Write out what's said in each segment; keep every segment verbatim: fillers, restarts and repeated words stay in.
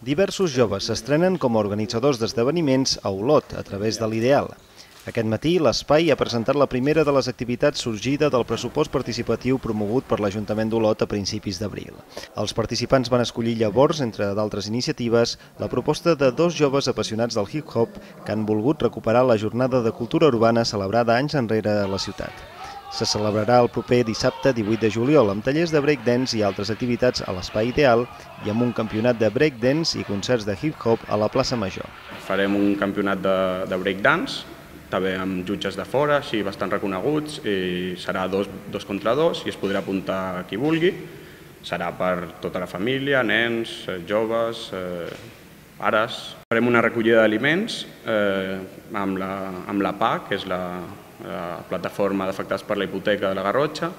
Diversos joves s'estrenen com a organitzadors d'esdeveniments a Olot, a través de l'Ideal. Aquest matí, l'Espai ha presentat la primera de les activitats sorgida del pressupost participatiu promogut per l'Ajuntament d'Olot a principis d'abril. Els participants van escollir llavors, entre d'altres iniciatives, la proposta de dos joves apassionats del hip-hop que han volgut recuperar la jornada de cultura urbana celebrada anys enrere a la ciutat. Se celebrarà el proper dissabte divuit de juliol amb tallers de breakdance i altres activitats a l'Espai Ideal i amb un campionat de breakdance i concerts de hip-hop a la plaça Major. Farem un campionat de, de breakdance, també amb jutges de fora, així bastant reconeguts, i serà dos, dos contra dos i es podrà apuntar qui vulgui. Serà per tota la família, nens, joves, eh, pares. Farem una recollida d'aliments eh, amb, la, amb la P A, que és la, la plataforma d'afectats per la hipoteca de la Garrotxa,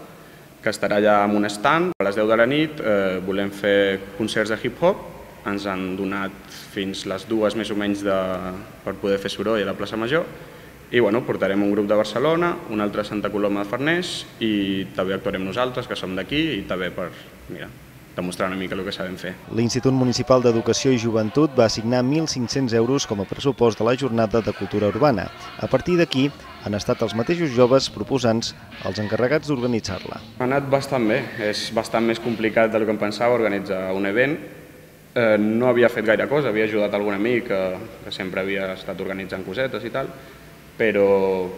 que estarà allà amb un stand. A les deu de la nit eh, volem fer concerts de hip-hop. Ens han donat fins les dues més o menys de, per poder fer soroll a la plaça Major. I bueno, portarem un grup de Barcelona, un altre a Santa Coloma de Farners i també actuarem nosaltres, que som d'aquí, i també per mira, demostrar una mica el que sabem fer. L'Institut Municipal d'Educació i Joventut va assignar mil cinc-cents euros com a pressupost de la jornada de cultura urbana. A partir d'aquí, han estat els mateixos joves proposants els encarregats d'organitzar-la. Ha anat bastant bé, és bastant més complicat del que em pensava organitzar un event. Eh, no havia fet gaire cosa, havia ajudat algun amic que, que sempre havia estat organitzant cosetes i tal, però,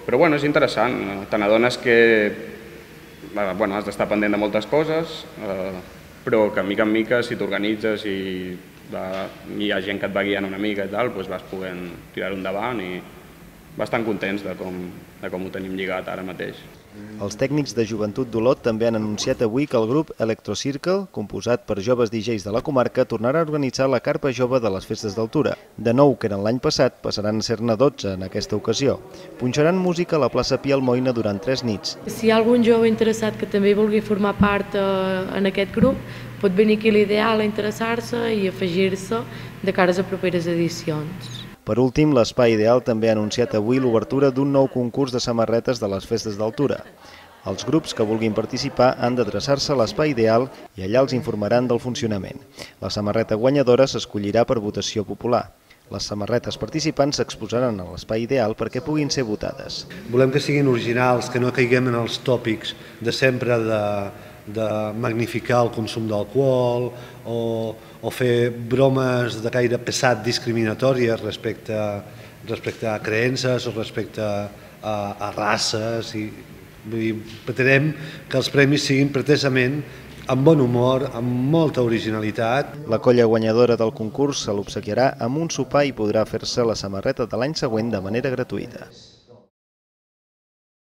però bueno, és interessant. Te n'adones que bueno, has d'estar pendent de moltes coses, eh, però que mica en mica, si t'organitzes i va, hi ha gent que et va guiant una mica i tal, doncs vas podent tirar-ho endavant i bastant contents de com, de com ho tenim lligat ara mateix. Els tècnics de joventut d'Olot també han anunciat avui que el grup Electrocircle, composat per joves D Js de la comarca, tornarà a organitzar la carpa jove de les festes d'altura. De nou, que eren l'any passat, passaran a ser-ne dotze en aquesta ocasió. Punxaran música a la plaça Pi Almoina durant tres nits. Si hi ha algun jove interessat que també vulgui formar part eh, en aquest grup, pot venir aquí a l'Ideal a interessar-se i afegir-se de cares a properes edicions. Per últim, l'Espai Ideal també ha anunciat avui l'obertura d'un nou concurs de samarretes de les festes d'altura. Els grups que vulguin participar han d'adreçar-se a l'Espai Ideal i allà els informaran del funcionament. La samarreta guanyadora s'escollirà per votació popular. Les samarretes participants s'exposaran a l'Espai Ideal perquè puguin ser votades. Volem que siguin originals, que no caiguem en els tòpics de sempre de, de magnificar el consum d'alcohol o, o fer bromes de caire pesat discriminatòries respecte, respecte a creences o respecte a, a races. I, vull dir, pretenem que els premis siguin pretesament amb bon humor, amb molta originalitat. La colla guanyadora del concurs se l'obsequiarà amb un sopar i podrà fer-se la samarreta de l'any següent de manera gratuïta.